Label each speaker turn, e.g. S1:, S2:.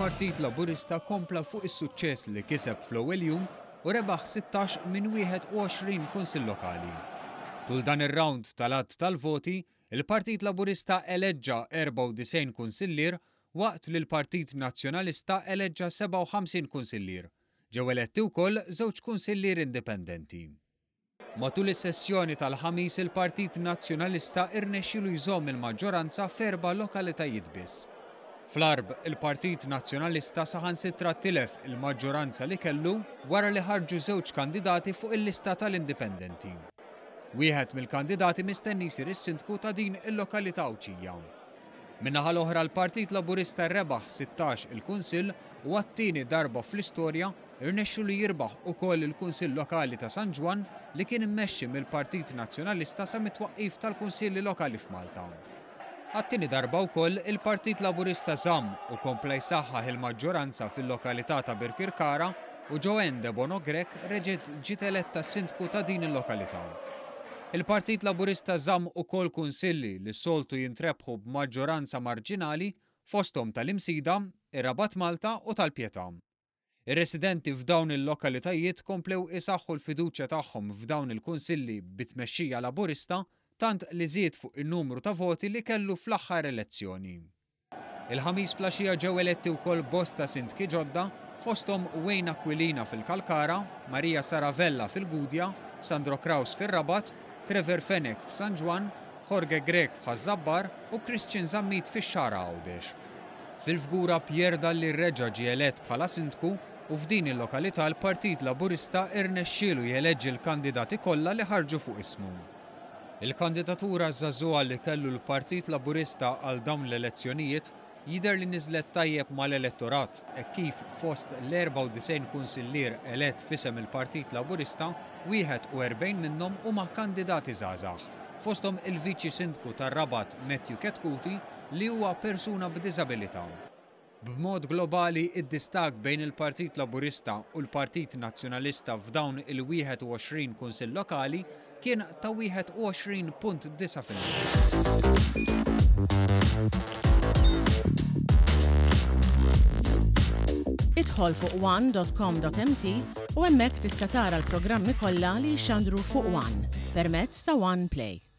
S1: il-Partit Laburista kompla fuq is-suċċess li kiseb fl-ewwel jum u rebaħ 16 minn 21 kunsill lokali. Tul dan ir-rawnd tal-għadd tal-voti, il-Partit Laburista eleġġa 94 kunsillier waqt li l-Partit Nazzjonalista eleġġa 57 kunsillier. Ġew eletti wkoll żewġ kunsillieri indipendenti. Matul is-sessjoni tal-Ħamis il-Partit Nazzjonalista irnexxielu jżomm il-maġġoranza f'erba' lokalitajiet biss. Fl-Għarb, il-Partit Nazzjonalista saħansitra tilef il-maġġoranza li kellu wara li ħarġu żewġ kandidati fuq il-lista tal-Indipendenti. Wieħed mill-kandidati mistenni jsir is-Sindku ta' din il-lokalità Għawdxija. Min-naħa l-oħra l-Partit Laburista rebaħ 16 il-Kunsill u għat-tieni darba fl-istorja Irnexxielu jirbaħ ukoll il-Kunsill Lokali ta' San Ġwann li kien immexxi mill-Partit Nazzjonalista sa mit-twaqqif tal-Kunsilli Lokali f'Malta. Għat-tieni darba wkoll il-Partit Laburista żamm u kompla jsaħħaħ il-maġġoranza fil-lokalità ta' Birkirkara u Joanne Debono Grech reġgħet ġiet eletta Sindku ta' din il-lokalità. Il-Partit Laburista żamm ukoll kunsilli li s-soltu jintrebħu b'maġġoranza marġinali fosthom tal-Imsida, ir-Rabat Malta u tal-Pietà. Ir-residenti f'dawn il-lokalitajiet komplew isaħħu l-fiduċja tagħhom f'dawn il-kunsilli bi tmexxija Laburista tant li żied fuq in-numru ta' voti li kellu fl-aħħar elezzjoni. Il-Ħamis flaxija ġew eletti wkoll bosta sindki ġodda fosthom Wayne Aquilina fil-Kalkara, Maria Sara Vella fil-Gudja, Sandro Craus fir-Rabat, Trevor Fenech f'San Ġwann, Jorge Grech f'Ħaż-Żabbar u Christian Zammit fix-Xagħra Għawdex. Fil-Fgura Pierre Dalli reġa' ġie elett bħala Sindku u f'din il-lokalità l-Partit Laburista irnexxielu jeleġġi l-kandidati kollha li ħarġu fuq ismu. Il-kandidatura żagħżugħa li kellu l-Partit Laburista għal dawn l-elezzjonijiet jidher li niżlet tajjeb mal-elettorat hekk kif fost l-94 kunsillier elett f'isem il-Partit Laburista, 41 minnhom huma kandidati żgħażagħ, fosthom il-Viċi Sindku tar-Rabat Matthew Chetcuti li huwa persuna b'diżabilità. B'mod globali, id-distakk bejn il-Partit Laburista u l-Partit Nazzjonalista f'dawn il-21 kunsill lokali kien ta' 21.9%.
S2: Idħol fuq one.com.mt u hemmhekk tista' tara l-programmi kollha li jixxandru fuq One permezz ta' One Play.